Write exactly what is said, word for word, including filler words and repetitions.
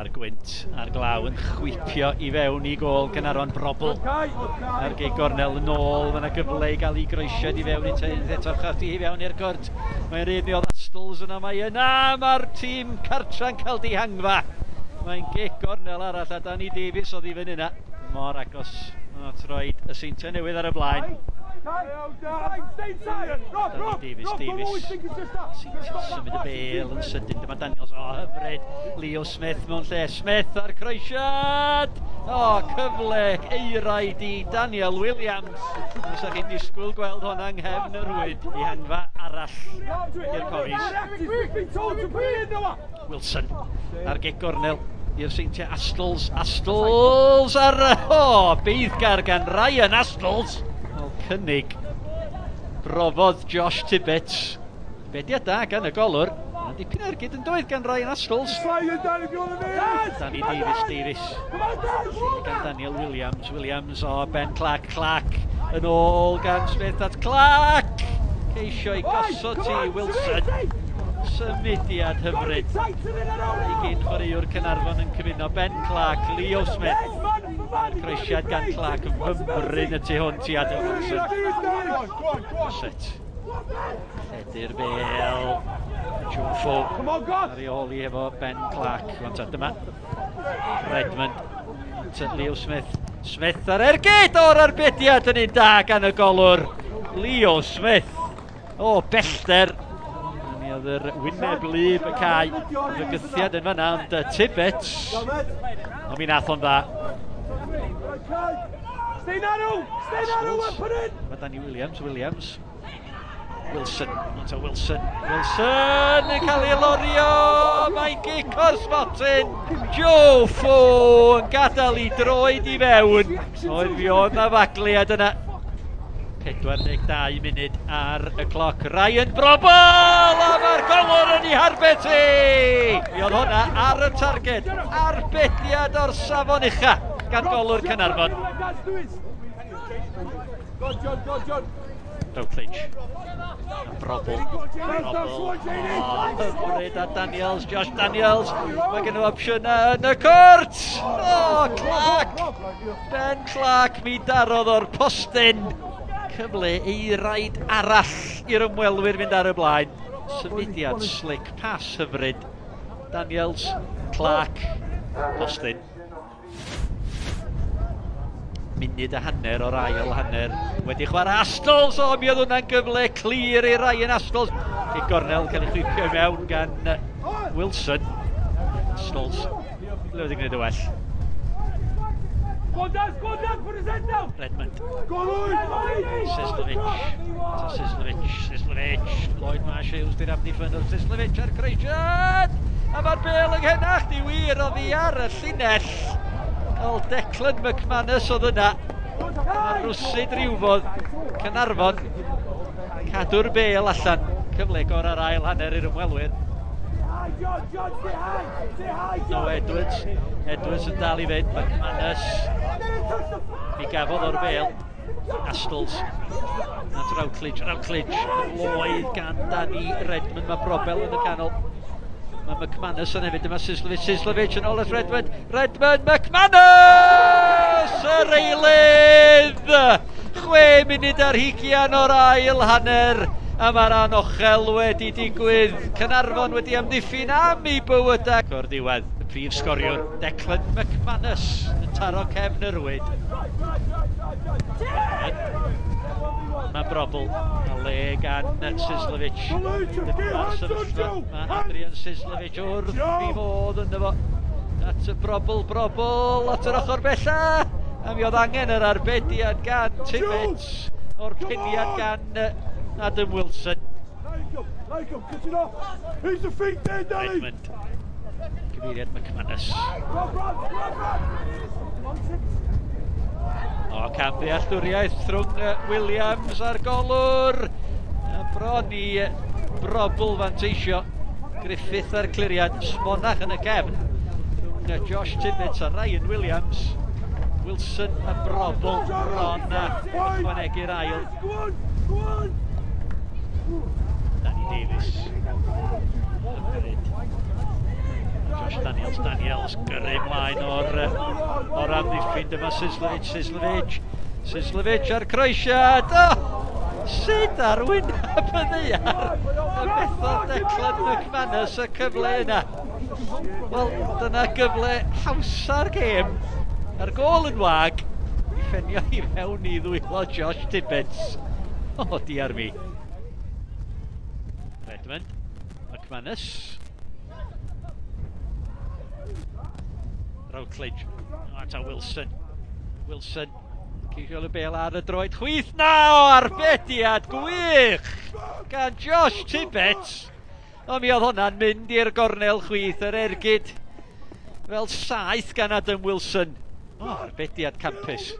Mae'r gwynt a'r glaw yn chwipio i fewn i gôl Caernarfon. Brobbel a'r gig gornel yn ôl. Mae yna gyfle i gael ei groesiad i fewn i teith eto chati i fewn i'r cwrt. Mae'n rhaid mi oedd Astles yna, mae yna, mae'r tîm cartra'n cael dihangfa. Mae'n gig gornel arall a Danny Davies oedd i fyny yna. Mor agos at roed y Seintiau Newydd ar y blaen. Danny Davies, Davies. Seintiau symud y bêl yn sydyn. Dyma Daniels, o hyfryd. Leo Smith mewn lle. Smith ar croesiad. O, cyfle eiraid i Daniel Williams. Fysa chi'n disgwyl gweld hwnna yng nghefn y rhwyd. Dihangfa arall i'r Cofis. Wilson ar gic gornel i'r Seintiau. Astles, Astles ar... O, beiddgar gan Ryan Astles. Wel, cynnig brofodd Josh Tibbetts. Bediad da gan y golwr. Mae'n dipyn ergyd yn doedd gan Ryan Astles. Danny Davies, Davies. Gan Daniel Williams, Williams o Ben Clark, Clark yn ôl gan Smith at Clark. Ceisio i gosod ti Wilson. Symudiad hyfryd. I gyn chwaraewr Caernarfon yn cyfuno Ben Clark, Leo Smith. Croesiad gan Clark yn fymryn y tu hwnt i Adam Wilson. Set. Lledu'r bêl. Joe Fo ar ei ôl i efo Ben Clark. Wan ta, dyma Redmond. Leo Smith. Smith ar ergyd o'r arbediad yn un da gan y golwr. Leo Smith. O, bellter. Mi oedd yr wyneb lyb y cae. Fygythiad yn fanna, ond Tibbetts. Ond mi nath o'n dda. Mae Danny Williams, Williams. Wilson, onto Wilson, Wilson yn cael ei lorio, mae'n gic o'r smotyn, Joe Fo yn gadael i droed i fewn, oedd fi oedd na fagliad yna. pedwar deg dau munud ar y cloc, Ryan Brobbel, a mae'r golwr yn ei harbed hi! Mi oedd hwnna ar y targed, arbediad o'r safon ucha gan golwr Caernarfon. Routledge. A Brobbel. Brobbel. O, hyfryd a Daniels, Josh Daniels. Mae gen nhw opsiynau yn y cwrt. O, Clark. Ben Clark, mi darodd o'r postyn. Cyfle eiraid arall i'r ymwelwyr fynd ar y blaen. Symudiad slick, pas hyfryd. Daniels, Clark, postyn. Munud a hanner o'r ail hanner. Wedi chwarae Astles, o mi oedd hwnna'n gyfle clir i Ryan Astles. I gornel cael ei chwipio i mewn gan Wilson. Astles, ble wedi gwneud y well. Redmond. Sislovic. Sislovic, Sislovic. Lloyd Marsh Hughes di'r amddiffynnwr. Sislovic ar croesiad! A mae'r bêl yng nghenach di wir oddi ar y llinell. Wel, Declan McManus oedd yna. Mae rwsyd rywfodd Caernarfon cadw'r bêl allan. Cyfle gorau'r ail hanner i'r ymwelwyr. No, Edwards. Edwards yn dal i fynd. McManus. Mi gafodd o'r bêl. Astles. At Routledge. Routledge. Lloyd gan Danny Redmond. Mae Brobbel yn y canol. Mae McManus yn hefyd, dyma Sislovic, Sislovic yn ôl at Redmond, Redmond, McManus! Yr eilydd! Chwe munud ar hugian o'r ail hanner, a mae'r anochel wedi digwydd. Caernarfon wedi amddiffyn am ei bywydau. O'r diwedd, y prif sgoriwr, Declan McManus, yn taro cefn y rwyd. Mae Brobbel, a le gan Sislovic. Dyma'r sefyllfa, mae Adrian Sislovic wrth i fod ynddo fo. At y Brobbel, Brobbel, at yr ochr bella. A mi oedd angen yr arbediad gan Tibbetts, o'r peniad gan Adam Wilson. Redmond, cyfeiriad McManus. O, cam ddealltwriaeth rhwng Williams a'r golwr. A bron i Brobbel fanteisio. Griffith a'r cliriad, smonach yn y cefn. Rhwng Josh Tibbetts a Ryan Williams. Wilson a Brobbel bron a ychwanegu'r ail. Danny Davies. Hyfryd. Josh Daniels, Daniels gyrru ymlaen o'r, o'r amddiffyn. Dyma Sislovich, Sislovich, Sislovich a'r croesiad. Oh! Sut ar wyneb y ddaear y methodd Declan McManus y cyfle yna? Wel, dyna gyfle hawsa'r gêm. A'r gôl yn wag. I ffenio i mewn i ddwylo Josh Tibbets. O, oh, diar mi. Redmond, McManus. Routledge. O, ta Wilson. Wilson. Ceisio y bel ar y droed chwith. Na, o, arbediad gwych gan Josh Tibbets. O, mi oedd hwnna'n mynd i'r gornel chwith, yr ergyd fel saeth gan Adam Wilson. O, arbediad campus.